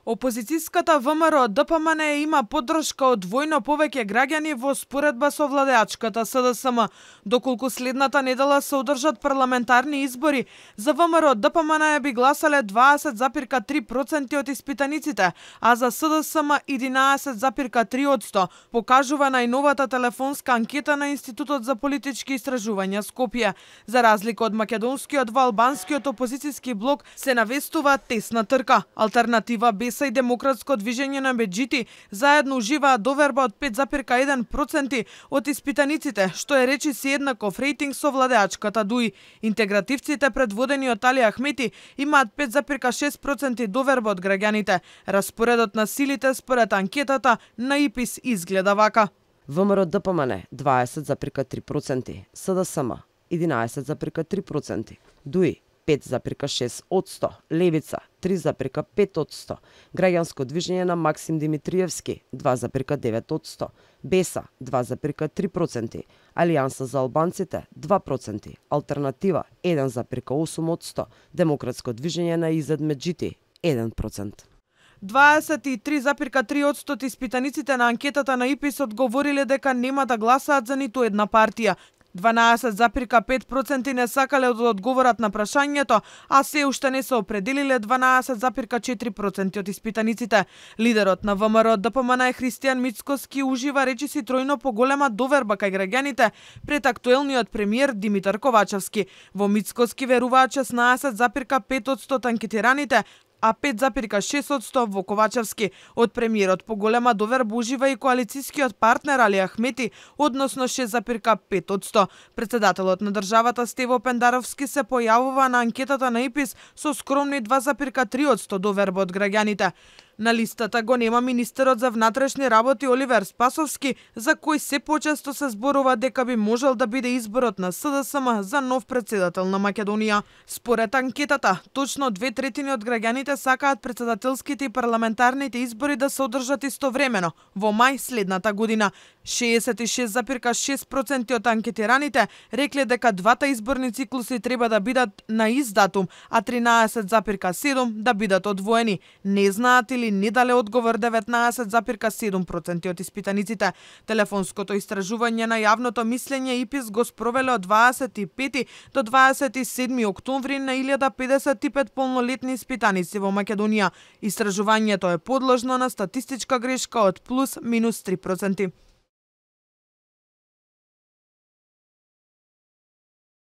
Опозицијската ВМРО ДПМН има поддршка од двојно повеќе граѓани во споредба со владеачката СДСМ. Доколку следната недела се одржат парламентарни избори, за ВМРО ДПМН би гласале 20,3% од испитаниците, а за СДСМ 11,3%, покажува најновата телефонска анкета на Институтот за политички истражувања Скопје. За разлика од македонскиот, во албанскиот опозицијски блок се навестува тесна трка. Алтернатива БЕСА и Демократско движење на Беџити заедно уживаат доверба од 5,1% од испитаниците, што е речиси еднаков рейтинг со владеачката ДУИ. Интегративците предводени од Али Ахмети имаат 5,6% доверба од граѓаните. Распоредот на силите според анкетата на ИПИС изгледа вака: ВМРО ДПМН 20,3%, СДСМ 11,3%, ДУИ 5,6%, Левица 3,5%, Граѓанско движење на Максим Димитриевски 2,9%, БЕСА 2,3%, Алијанса за албанците 2%, Алтернатива 1,8%, Демократско движење на Изет Меджити 1%. 23,3% од испитаниците на анкетата на ИПИС одговориле дека нема да гласаат за ниту една партија. 12,5% не сакале да одговорат на прашањето, а се уште не се определиле 12,4% од испитаниците. Лидерот на ВМРО ДПМН Христијан Мицкоски ужива речиси тројно поголема доверба кај граѓаните пред актуелниот премиер Димитар Ковачевски. Во Мицкоски веруваат 16,5% од анкетираните, а 5,6% во Ковачевски. Од премиерот поголема доверба ужива и коалицијскиот партнер Али Ахмети, односно 6,5%. Председателот на државата Стево Пендаровски се појавува на анкетата на ИПИС со скромни 2,3% доверба од граѓаните. На листата го нема министерот за внатрешни работи Оливер Спасовски, за кој се почесто се зборува дека би можел да биде изборот на СДСМ за нов председател на Македонија. Според анкетата, точно 2/3 од граѓаните сакаат председателските и парламентарните избори да се одржат истовремено, во мај следната година. 66,6% од анкетираните рекле дека двата изборни циклуси треба да бидат на ист датум, а 13,7% да бидат одвоени. Не знаат или не дале одговор 19,7% од испитаниците. Телефонското истражување на јавното мислење ИПИС го спровеле од 25 до 27 октомври на 1055 полнолетни испитаници во Македонија. Истражувањето е подложно на статистичка грешка од +-3%.